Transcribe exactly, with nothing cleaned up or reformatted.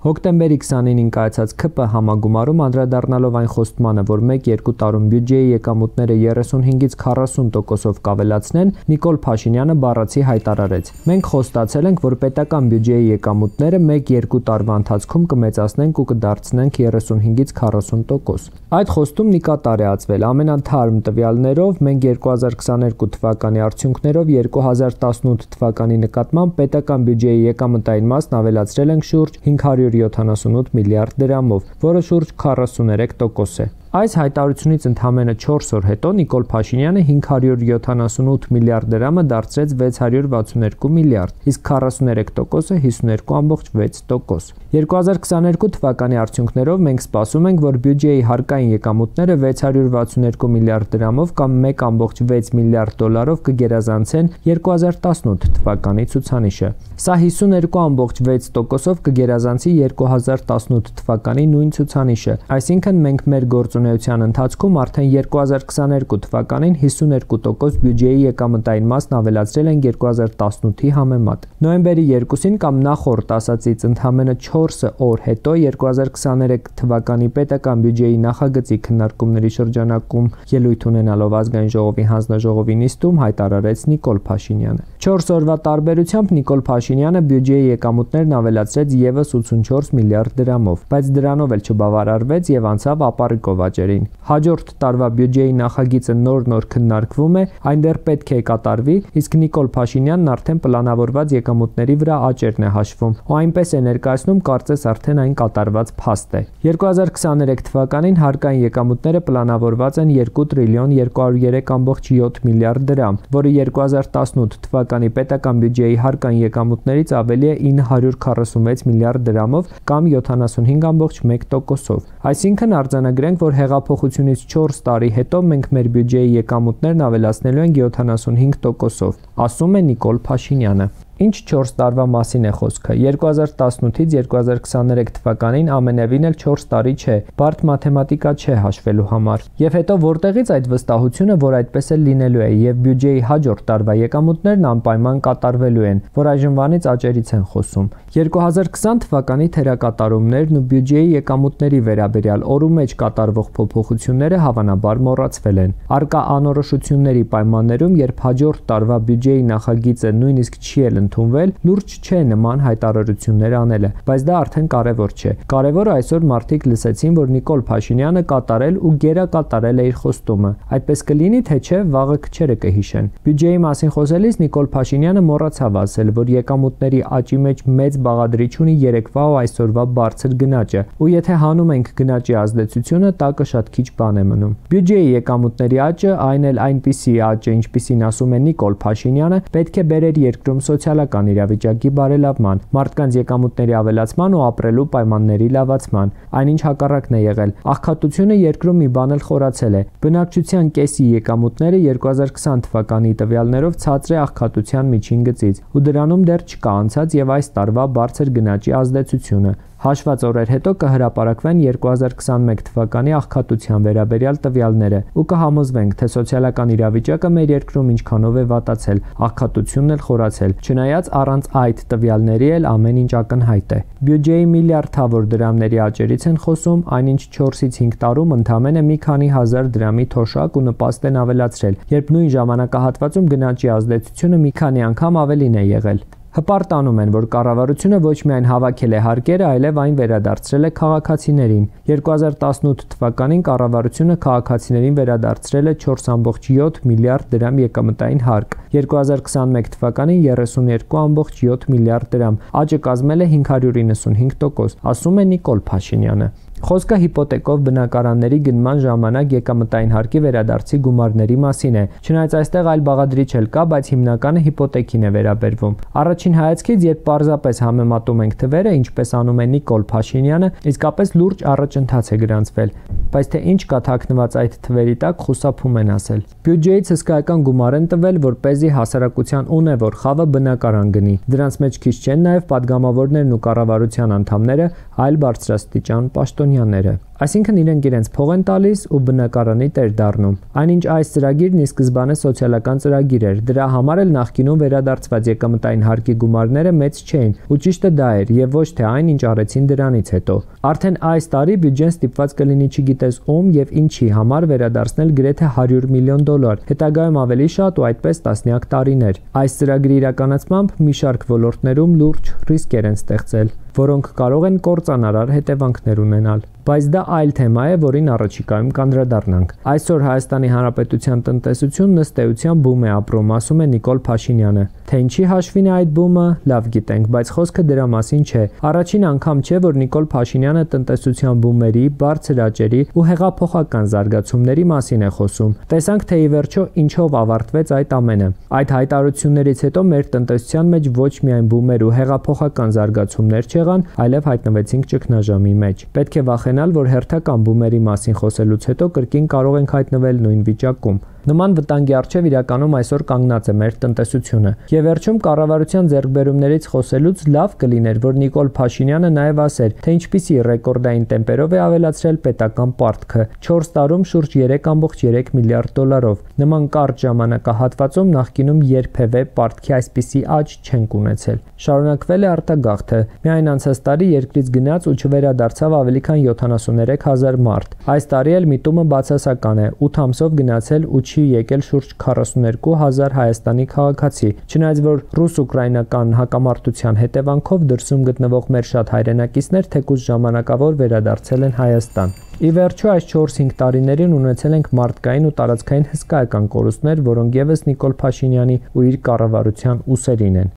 Հոկտեմբերի քսանինին կայացած K P համագումարում անդրադառնալով այն խոստմանը, որ մեկ-երկու տարում բյուջեի եկամուտները երեսունհինգից քառասուն տոկոսով կավելացնեն, Նիկոլ Փաշինյանը բառացի հայտարարեց. «Մենք խոստացել ենք, որ պետական բյուջեի եկամուտները մեկ-երկու տարվա ընթացքում կմեծացնենք ու կդարձնենք երեսունհինգից քառասուն տոկոս»։ Այդ խոստումն ի կատար է ածվել։ Ամենաթարմ տվյալներով մենք երկու հազար քսաներկու թվականի արդյունքներով երկու հազար տասնութ թվականի նկատմամբ պետական բյուջեի եկամտային մասն ավելացրել ենք շուրջ հինգ հարյուր յոթանասունութ միլիարդ դրամով, որը շուրջ քառասուներեք տոկոս է։ Այս հայտարարությունից ընդամենը չորս օր հետո Նիկոլ Փաշինյանը հինգ հարյուր յոթանասունութ միլիարդ դրամը դարձրեց վեց հարյուր վաթսուներկու միլիարդ, իսկ քառասուներեք տոկոսը հիսուներկու ամբողջ վեց տոկոս։ երկու հազար քսաներկու թվականի արդյունքներով մենք սպասում ենք, որ բյուջեի հարկային եկամուտները վեց հարյուր վաթսուներկու միլիարդ դրամով կամ մեկ ամբողջ վեց միլիարդ դոլարով կգերազանցեն երկու հազար տասնութ թվականի ցուցանիշը։ Սա հիսուներկու ամբողջ վեց տոկոսով կգերազանցի երկու հազար տասնութ թվականի նույն ցուցանիշը, այսինքն մենք մեր գործունեության ընթացքում արդեն երկու հազար քսաներկու թվականին հիսուներկու տոկոս բյուջեի եկամտային մասն ավելացրել են երկու հազար տասնութի համեմատ։ Նոյեմբերի երկուսին կամ նախորդ ասածից ընդամենը չորս օր հետո երկու հազար քսաներեք թվականի պետական բյուջեի նախագծի քննարկումների շրջանակում ելույթ ունենալով ազգային ժողովի հանձնաժողովի նիստում հայտարարեց Նիկոլ Փաշինյանը։ չորս օրվա տարբերությամբ Նիկոլ Փաշինյանը բյուջեի եկամուտներն ավելացրեց եւս ութսունչորս միլիարդ դրամով, բայց դրանով էլ չբավարարվեց եւ անցավ ապառիկով աճերին։ Հաջորդ տարվա բյուջեի նախագիծը նոր-նոր քննարկվում է, այն դեռ պետք է կատարվի, իսկ Նիկոլ Փաշինյանն արդեն պլանավորված եկամուտների վրա աճերն է հաշվում, ու այնպես է ներկայացնում, կարծես արդեն այն կատարված փաստ է։ երկու հազար քսաներեք թվականին հարկային եկամուտները պլանավորված են երկու տրիլիոն երկու հարյուր երեք ամբողջ յոթ միլիարդ դրամ, որը երկու հազար տասնութ թվականի պետական բյուջեի հարկային եկամուտներից ավելի է ինը հարյուր քառասունվեց միլիարդ դրամով կամ յոթանասունհինգ ամբողջ մեկ տոկոսով։ Այսինքն արձանագրենք, որ հեղափոխությունից չորս տարի հետո մենք մեր բյուջեի եկամուտներն ավելացնելու ենք յոթանասունհինգ տոկոսով, ասում է Նիկոլ Փաշինյանը։ Ինչ չորս տարվա մասին է խոսքը։ երկու հազար տասնութից երկու հազար քսաներեք թվականին ամենևին էլ չորս տարի չէ, բարդ մաթեմատիկա չէ հաշվելու համար։ Եվ հետո որտեղից այդ վստահությունը, որ այդպես էլ լինելու է, եւ բյուջեի հաջորդ տարվա եկամուտներն անպայման կատարվելու են, որ այժմվանից աճերից են խոսում։ երկու հազար քսան թվականի թերակատարումներն ու բյուջեի եկամուտների վերաբերյալ օրու մեջ կատարվող փոփոխությունները հավանաբար մոռացվել են։ Արկա անորոշությունների պայմաններում, երբ հաջորդ տարվա բյուջեի նախագիծը նույնիսկ չի էլ ընդունվել, լուրջ չէ նման հայտարարություններ անելը, բայց դա արդեն կարևոր չէ։ Կարևորը այսօր մարդիկ լսեցին, որ Նիկոլ Փաշինյանը կատարել ու գերակատարել է իր խոստումը։ Այդպես կլինի, թե չէ, վաղը քչերը կհիշեն։ Բյուջեի մասին խոսելիս Նիկոլ Փաշինյանը մոռացավ ասել, որ եկամուտների աճի մեջ մեծ բաղադրիչ ունի երեկվա ու այսօրվա բարձր գնաճը, ու եթե հանում ենք գնաճի ազդեցությունը, տակը շատ քիչ բան է մնում։ Բյուջեի եկամուտների աճը, այն էլ այնպիսի աճը, ինչպիսին ասում է Նիկոլ Փաշինյանը, պետք է բերեր երկրում սոցիալական իրավիճակի բարելավման, մարդկանց եկամուտների ավելացման ու ապրելու պայմանների լավացման։ Այնինչ հակառակն է եղել։ Աղքատությունը երկրում մի բան էլ խորացել է։ Բնակչության կեսի եկամուտները երկու հազար քսան թվականի տվյալներով ցածր է աղքատության միջին գծից, ու դրանում դեռ չկա անցած եւ այս տարվա բարձր գնաճի ազդեցությունը։ Հաշված օրեր հետո կհրապարակվեն երկու հազար քսանմեկ թվականի աղքատության վերաբերյալ տվյալները ու կհամոզվենք, թե սոցիալական իրավիճակը մեր երկրում ինչքանով է վատացել, աղքատությունն էլ խորացել, չնայած առանց այդ տվյալների էլ ամեն ինչ ակնհայտ է։ Բյուջեի միլիարդավոր դրամների աճերից են խոսում, այնինչ չորսից հինգ տարում ընդամենը մի քանի հազար դրամի թոշակ ու նպաստ են ավելացրել, երբ նույն ժամանակահատվածում գնաճի ազդեցությունը մի քանի անգամ ավելին է եղել։ Հպարտանում են, որ կառավարությունը ոչ միայն հավաքել է հարկերը, այլև այն վերադարձրել է քաղաքացիներին։ երկու հազար տասնութ թվականին կառավարությունը քաղաքացիներին վերադարձրել է չորս ամբողջ յոթ միլիարդ դրամ եկամտային հարկ, երկու հազար քսանմեկ թվականին երեսուներկու ամբողջ յոթ միլիարդ դրամ, աճը կազմել է հինգ հարյուր իննսունհինգ տոկոս, ասում է Նիկոլ Փաշինյանը։ Խոսքը հիպոթեկով բնակարանների գնման ժամանակ եկամտային հարկի վերադարձի գումարների մասին է։ Չնայած այստեղ այլ բաղադրիչ էլ կա, բայց հիմնականը հիպոթեկին է վերաբերվում։ Առաջին հայացքից, երբ պարզապես համեմատում ենք թվերը, ինչպես անում է Նիկոլ Փաշինյանը, իսկապես լուրջ առաջընթաց է գրանցվել, բայց թե ինչ կա թաքնված այդ թվերի տակ, խուսափում են ասել։ Բյուջեից հսկայական գումար են տվել, որպեսզի հասարակության ունևոր խավը բնակարան գնի։ Դրանց մեջ քիչ չեն նաև падգամավորներն ու կառավարության անդամները, այլ բարձրաստիճան պաշտոնյաները։ Այսինքն իրենք իրենց փող են տալիս ու բնակարանի տեր դառնում։ Այնինչ այս ծրագիրն ի սկզբանե սոցիալական ծրագիր էր, դրա համար էլ նախկինում վերադարձված եկամտային հարկի գումարները մեծ չէին, ու ճիշտը դա էր եւ ոչ թե այն, ինչ արեցին դրանից հետո։ Արդեն այս տարի բյուջեն ստիպված կլինի չգիտես ում եւ ինչի համար վերադարձնել գրեթե հարյուր միլիոն դոլար, հետագայում ավելի շատ ու այդպես տասնյակ տարիներ։ Այս ծրագրի իրականացմամբ մի շարք ոլորտներում լուրջ ռիսկեր են ստեղծել, որոնք կարող են կործանարար հետևանքներ ունենալ։ Բայց դա այլ թեմա է, որին առաջիկայում կանդրադառնանք։ Այսօր Հայաստանի Հանրապետության տնտեսությունն ըստ էության բում է ապրում, ասում է Նիկոլ Փաշինյանը։ Թե ինչի հաշվին է այդ բումը, լավ գիտենք, բայց խոսքը դրա մասին չէ։ Առաջին անգամ չէ, որ Նիկոլ Փաշինյանը տնտեսության բումերի, բարձր աճերի ու հեղափոխական զարգացումների մասին է խոսում։ Տեսանք, թե ի վերջո ինչով ավարտվեց այդ ամենը։ Այդ հայտարարություններից հետո մեր տնտեսության մեջ ոչ միայն բումեր ու հեղափոխական զարգացումներ չեղան, այլև հայտնվեցինք ճգնաժամի մեջ։ Պետք է վախենալ, որ հերթական բումերի մասին խոսելուց հետո կրկին կարող ենք հայտնվել նույն վիճակում։ Նման վտանգի առջև իրականում այսօր կանգնած է մեր տնտեսությունը։ Եվ վերջում կառավարության ձեռքբերումներից խոսելուց լավ կլիներ, որ Նիկոլ Փաշինյանը նաև ասեր, թե ինչպիսի ռեկորդային տեմպերով է ավելացրել պետական պարտքը՝ չորս տարում շուրջ երեք կόμma երեք միլիարդ դոլարով։ Նման կարճ ժամանակահատվածում նախկինում երբևէ պարտքի այսպիսի աճ չենք ունեցել։ Շարունակվել է արտագաղթը։ Միայն անցած տարի երկրից գնաց ու չվերադարձավ ավելի քան յոթանասուններեք հազար մարդ։ Այս տարի էլ միտումը բացասական է՝ ութ ամսով գնացել ու չի եկել շուրջ քառասուններկու հազար Հայաստանի քաղաքացի, չնայած որ ռուս-ուկրաինական հակամարտության հետևանքով դրսում գտնվող մեր շատ հայրենակիցներ թեկուզ ժամանակավոր վերադարձել են Հայաստան։ Ի վերջո այս չորս-հինգ տարիներին ունեցել ենք մարդկային ու տարածքային հսկայական կորուստներ, որոնք ևս Նիկոլ Փաշինյանի ու իր կառավարության ուսերին են։